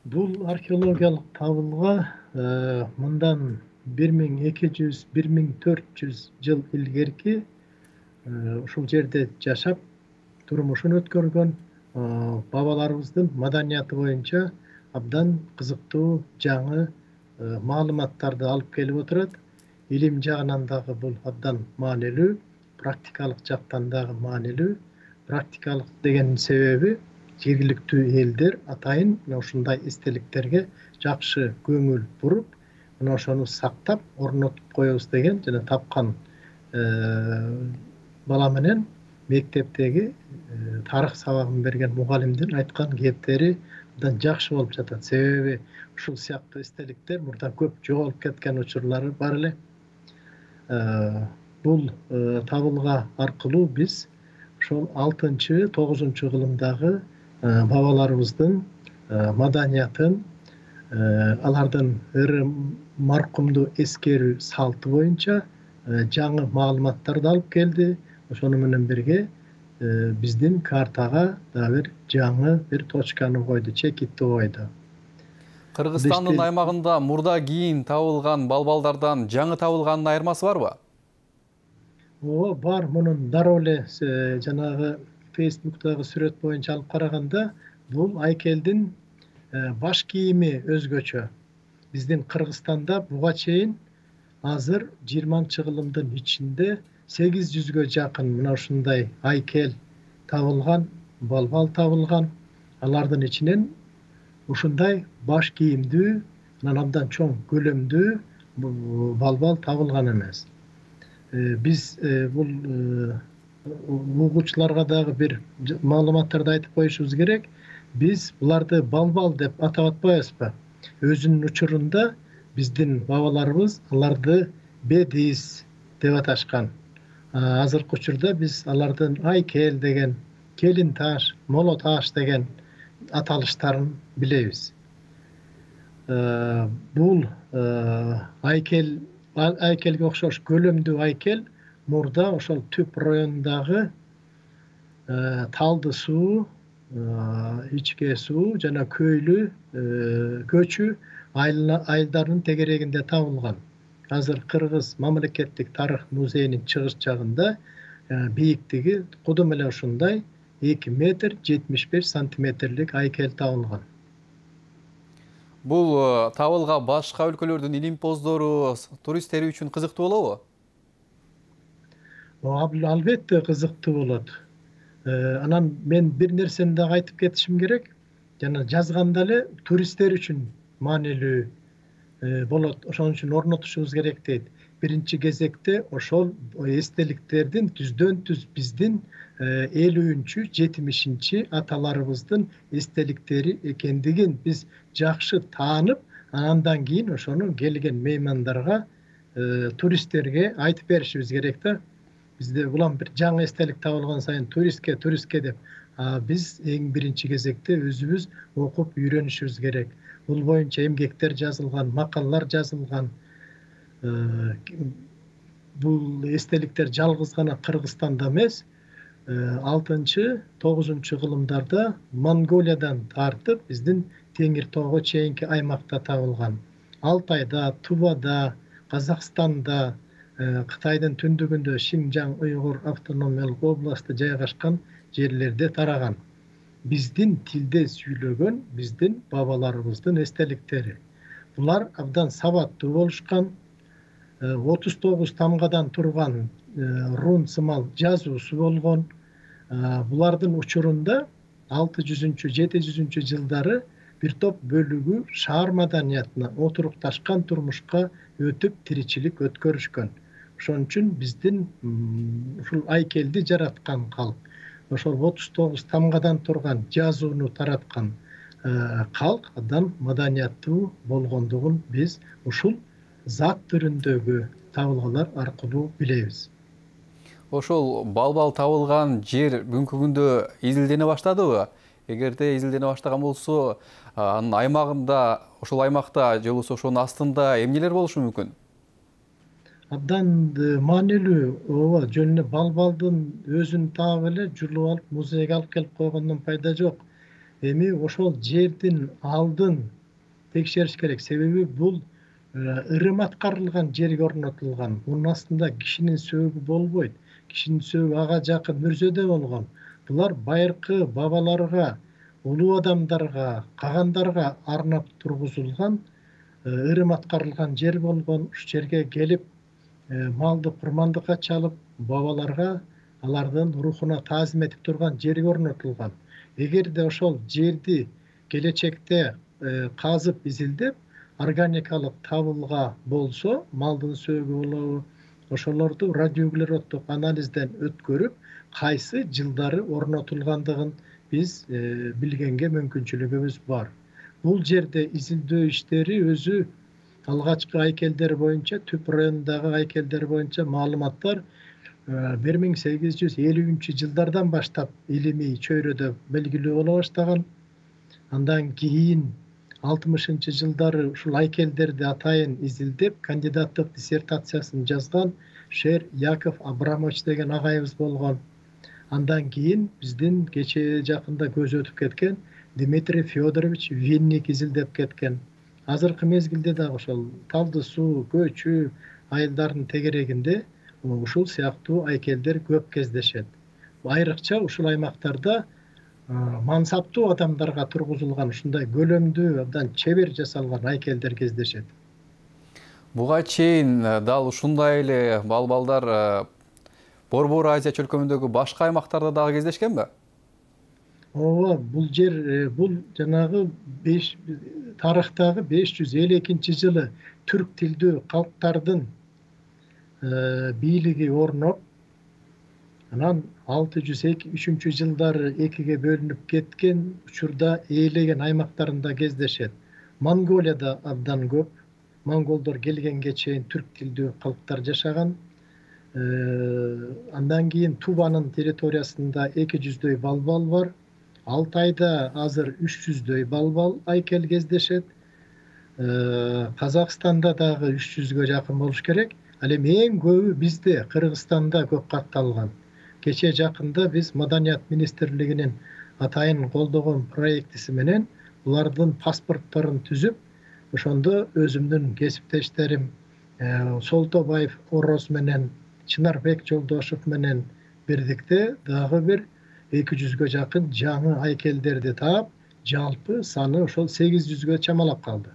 Бул археологиялык табылга мындан 1200-1400 жыл илгерки ушул жерде жашап турмушун өткөргөн бабаларыбыздын маданияты боюнча абдан кызыктуу жаңы маалыматтарды алып келип отурат. Илим жагынан дагы бул абдан маанилүү, практикалык жактан дагы маанилүү. Практикалык деген себеби жергиликтүү элдер атайын мына ушундай эстеликтерге жакшы көңүл буруп, мына ошону сактап, орнотуп коебуз деген жана тапкан бала менен мектептеги тарых сабагын берген мугалимдин айткан кептери абдан жакшы болуп жатат. Себеби ушул сыяктуу эстеликтер мурда көп жоголуп кеткен учурлары бар эле. Бул табылга аркылуу биз ошол 6-9 кылымдагы бабаларыбыздын маданиятын, алардын ыры маркумду эскерүү салты боюнча жаңы маалыматтарды алып келди. Ошону менен бирге биздин картага дагы бир жаңы бир точканы койду, чекитти койду. Кыргызстандын аймагында мурда кийин табылган балбалдардан жаңы табылганын айырмасы барбы? Ооба, бар. Мунун дароо эле жанагы Facebook'тагы сүрөт боюнча алып караганда, бул айкелдин баш кийими өзгөчө. Биздин Кыргызстанда буга чейин азыр 20-кылымдын ичинде 800гө жакын мына ушундай айкел табылган, балбал табылган. Алардын ичинен ушундай баш кийимдүү, анан абдан чоң көлөмдүү балбал табылган эмес. Биз бул угуучуларга дагы бир маалыматтарды айтып коюшубуз керек. Биз буларды балбал деп атап атпайбызбы? Өзүнүн учурунда биздин бабаларыбыз аларды бедис деп аташкан. Азыркы учурда биз алардын айкел деген, келин таш, моло таш деген аталыштарын билебиз. Бул айкелге окшош көлөмдүү айкел мурда ошол түп райондагы талды суу, ичке суу жана көчү айылдарынын тегерегинде табылган. Азыр Кыргыз мамлекеттик тарых музейинин чыгыш жагында бийиктиги кудум эле ушундай 2 метр 75 сантиметрлик айкел табылган. Бул табылга башка өлкөлөрдүн илимпоздору, туристтери үчүн кызыктуу болобу? Албетте кызыктуу болот. Анан мен бир нерсени дагы айтып кетишим керек. Жана жазганда эле туристтер үчүн маанилүү болот. Ошон үчүн орнотушубуз керек дейт. Биринчи кезекте ошол эстеликтердин түздөн-түз биздин 50-70 аталарыбыздын эстеликтери экендигин биз жакшы таанып, андан кийин ошону келген меймандарга, туристтерге айтып беришибиз керек да. Бизде улам бир жаңы эстелик табылган сайын туристке деп, биз эң биринчи кезекте өзүбүз окуп үйрөнүшүбүз керек. Бул боюнча эмгектер жазылган, макалалар жазылган. Бул эстеликтер жалгыз гана Кыргызстанда эмес, 6-9 кылымдарда Монголиядан тартып биздин Теңир тоого чейинки аймакта табылган. Алтайда, Тувада, Казакстанда, Кытайдын түндүгүндө Шинжаң уйгур автономиялык областы жайгашкан жерлерде тараган. Биздин тилде сүйлөгөн биздин бабаларыбыздын эстеликтери. Булар абдан сабаттуу болушкан. 39 тамгадан турган рун сымал жазуусу болгон. Булардын учурунда 600-700 жылдары бир топ бөлүгү шаар маданиятына отурукташкан турмушка өтүп тиричилик өткөрүшкөн. Ошон үчүн биздин ушул айкелди жараткан калк, ошол 39 тамгадан турган жазууну тараткан калк абдан маданияттуу болгондугун биз ушул зат түрүндөгү табылгалар аркылуу билебиз. Ошол балбал табылган жер бүгүнкү күндө изилдене баштадыбы? Эгерде изилдене баштаган болсо, анын аймагында, ошол аймакта же болбосо ошонун астында эмнелер болушу мүмкүн? Абдан маанилүү. Ооба, жөн эле балбалдын өзүн таап эле жулуп алып музейге алып келип койгондон пайда жок. Эми ошол жердин алдын текшериш керек. Себеби бул ырым аткарылган жерге орнотулган. Мунун астында кишинин сөөгү болбойт. Кишинин сөөгү ага жакын мүрзөдө болгон. Булар байыркы бабаларга, улуу адамдарга, кагандарга арнап тургузулган ырым аткарылган жер болгон. Ушул жерге келип малды курмандыкка чалып, бабаларга алардын рухуна таазим этип турган жерге орнотулган. Эгерде ошол жерди келечекте казып изилдеп, органикалык табылга болсо, малдын сөөгү болобу, ошолорду радиоуглероддук анализден өткөрүп, кайсы жылдары орнотулгандыгын биз билгенге мүмкүнчүлүгүбүз бар. Бул жерде изилдөө иштери өзү алгачкы айкелдер боюнча, Түп районундагы айкелдер боюнча маалыматтар 1850-жылдардан баштап илимий чөйрөдө белгилүү боло баштаган. Андан кийин 60-жылдары ушул айкелдерди атайын изилдеп, кандидаттык диссертациясын жазган Шер Яков Абрамович деген агайыбыз болгон. Андан кийин биздин кечээ жакында көзү өтүп кеткен Дмитрий Федорович Винник изилдеп кеткен. Азыркы мезгилде дагы ошол Талды суу, Көчү айылдарынын тегерегинде ушул сыяктуу айкелдер көп кездешет. Айрыкча ушул аймактарда мансаптуу адамдарга тургузулган ушундай көлөмдүү, абдан чебер жасалган айкелдер кездешет. Буга чейин дал ушундай эле балбалдар Борбор Азия чөлкөмүндөгү башка аймактарда дагы кездешкенби? Ооба, бул жер бул жанагы тарыхтагы 552-жылы түрк тилдүү калктардын бийлиги орноп, анан 603-жылдары экиге бөлүнүп кеткен учурда ээлеген аймактарында кездешет. Монголияда абдан көп, монголдор келгенге чейин түрк тилдүү калктар жашаган. Андан кийин Туванын территориясында 200дөй балбал бар. Алтайда азыр 300дөй балбал айкел кездешет. Казакстанда дагы 300гө жакын болуш керек. Ал эми эң көбү бизде Кыргызстанда көп катталган. Кечээ жакында биз Маданият министрлигинин атайын колдогон проектиси менен булардын паспортторун түзүп, ошондо өзүмдүн кесиптештерим Солтобаев Ороз менен Чынарбек Жолдошов менен бирдикте дагы бир 200гө жакын жаңы айкелдерди таап, жалпы саны ошол 800гө чамалап калды.